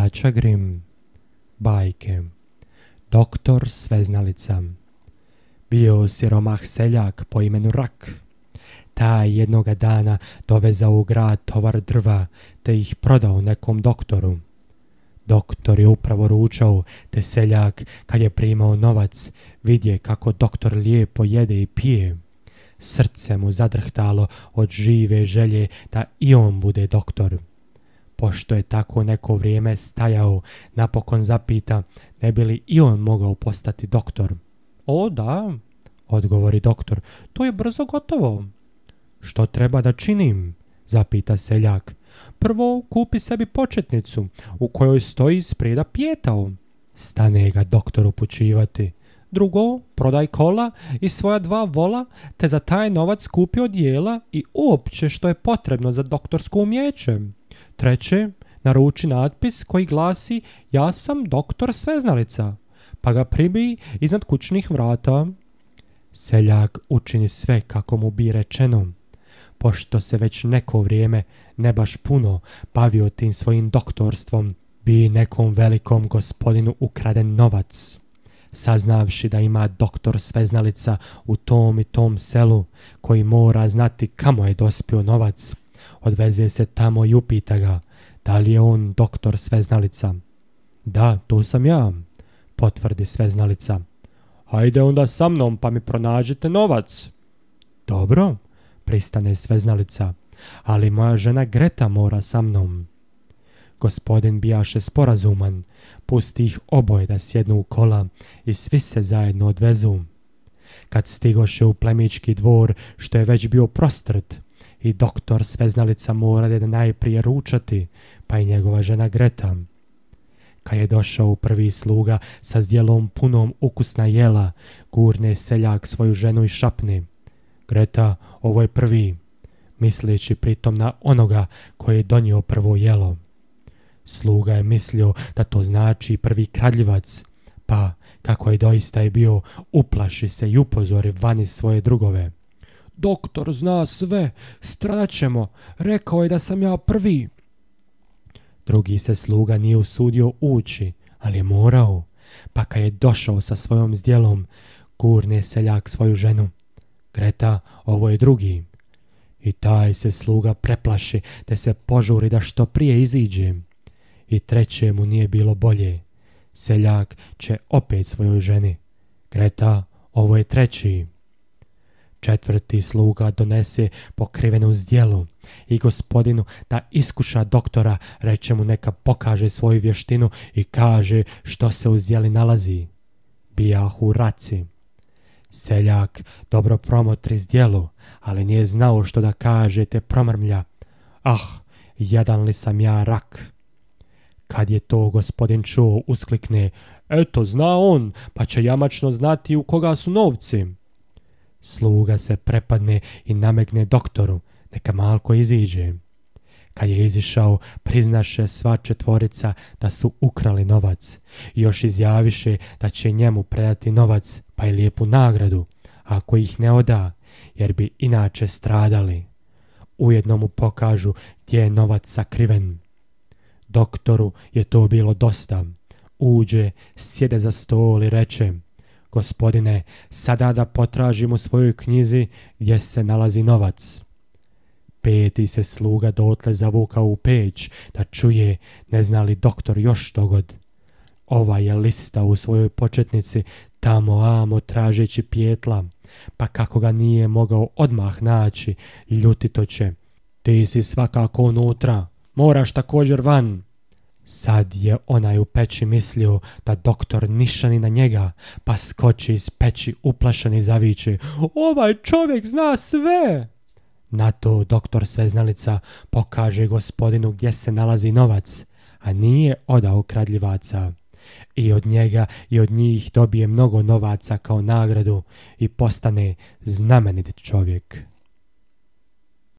Braća Grim. Bajke. Doktor Sveznalica. Bio siromah seljak po imenu Rak. Taj jednoga dana dovezao u grad tovar drva, te ih prodao nekom doktoru. Doktor je upravo ručao, te seljak, kad je primao novac, vidje kako doktor lijepo jede i pije. Srce mu zadrhtalo od žive želje da i on bude doktor. Pošto je tako neko vrijeme stajao, napokon zapita ne bi li i on mogao postati doktor. O da, odgovori doktor, to je brzo gotovo. Što treba da činim? Zapita seljak. Prvo kupi sebi početnicu u kojoj stoji sprijeda pijetao. Stane ga doktor upućivati. Drugo, prodaj kola i svoja 2 vola, te za taj novac kupi odijela i uopće što je potrebno za doktorsko umjeće. Treće, naruči natpis koji glasi ja sam doktor Sveznalica, pa ga pribij iznad kućnih vrata. Seljak učini sve kako mu bi rečeno. Pošto se već neko vrijeme, ne baš puno, bavio tim svojim doktorstvom, bi nekom velikom gospodinu ukraden novac. Saznavši da ima doktor Sveznalica u tom i tom selu, koji mora znati kamo je dospio novac, odveze se tamo i upita ga, da li je on doktor Sveznalica. Da, tu sam ja, potvrdi Sveznalica. Hajde onda sa mnom pa mi pronađite novac. Dobro, pristane Sveznalica, ali moja žena Greta mora sa mnom. Gospodin bijaše sporazuman, pusti ih oboje da sjednu u kola i svi se zajedno odvezu. Kad stigoše u plemićki dvor, što je već bio prostrt, i doktor Sveznalica morade da najprije ručati, pa i njegova žena Greta. Kad je došao prvi sluga sa zdjelom punom ukusna jela, gurne seljak svoju ženu i šapne. Greta, ovo je prvi, misleći pritom na onoga koji je donio prvo jelo. Sluga je mislio da to znači prvi kradljivac, pa, kako je doista i bio, uplaši se i upozori vani svoje drugove. Doktor zna sve, straćemo, rekao je da sam ja prvi. Drugi se sluga nije usudio ući, ali je morao, pa kad je došao sa svojom zdjelom, gurne seljak svoju ženu. Greta, ovo je drugi. I taj se sluga preplaši, te se požuri da što prije iziđe. I trećemu nije bilo bolje. Seljak će opet svojoj ženi. Greta, ovo je treći. Četvrti sluga donese pokrivenu zdjelu i gospodinu da iskuša doktora, reče mu neka pokaže svoju vještinu i kaže što se u zdjeli nalazi. Bijahu raci. Seljak dobro promotri zdjelu, ali nije znao što da kaže, te promrmlja. Ah, jadan li sam ja Rak. Kad je to gospodin čuo, usklikne, eto zna on, pa će jamačno znati u koga su novci. Sluga se prepadne i namegne doktoru, neka malko iziđe. Kad je izišao, priznaše sva četvorica da su ukrali novac i još izjaviše da će njemu predati novac pa i lijepu nagradu, ako ih ne oda, jer bi inače stradali. Ujedno mu pokažu gdje je novac sakriven. Doktoru je to bilo dosta. Uđe, sjede za stol i reče, gospodine, sada da potražim u svojoj knjizi gdje se nalazi novac. Peti se sluga dotle zavukao u peć da čuje ne zna li doktor još štogod. Ova je lista u svojoj početnici tamo amo tražeći pijetla, pa kako ga nije mogao odmah naći, ljutito će. Ti si svakako unutra, moraš također van. Sad je onaj u peći mislio da doktor nišani na njega, pa skoči iz peći uplašan i zaviče, ovaj čovjek zna sve. Na to doktor Sveznalica pokaže gospodinu gdje se nalazi novac, a nije odao kradljivaca. I od njega i od njih dobije mnogo novaca kao nagradu i postane znamenit čovjek.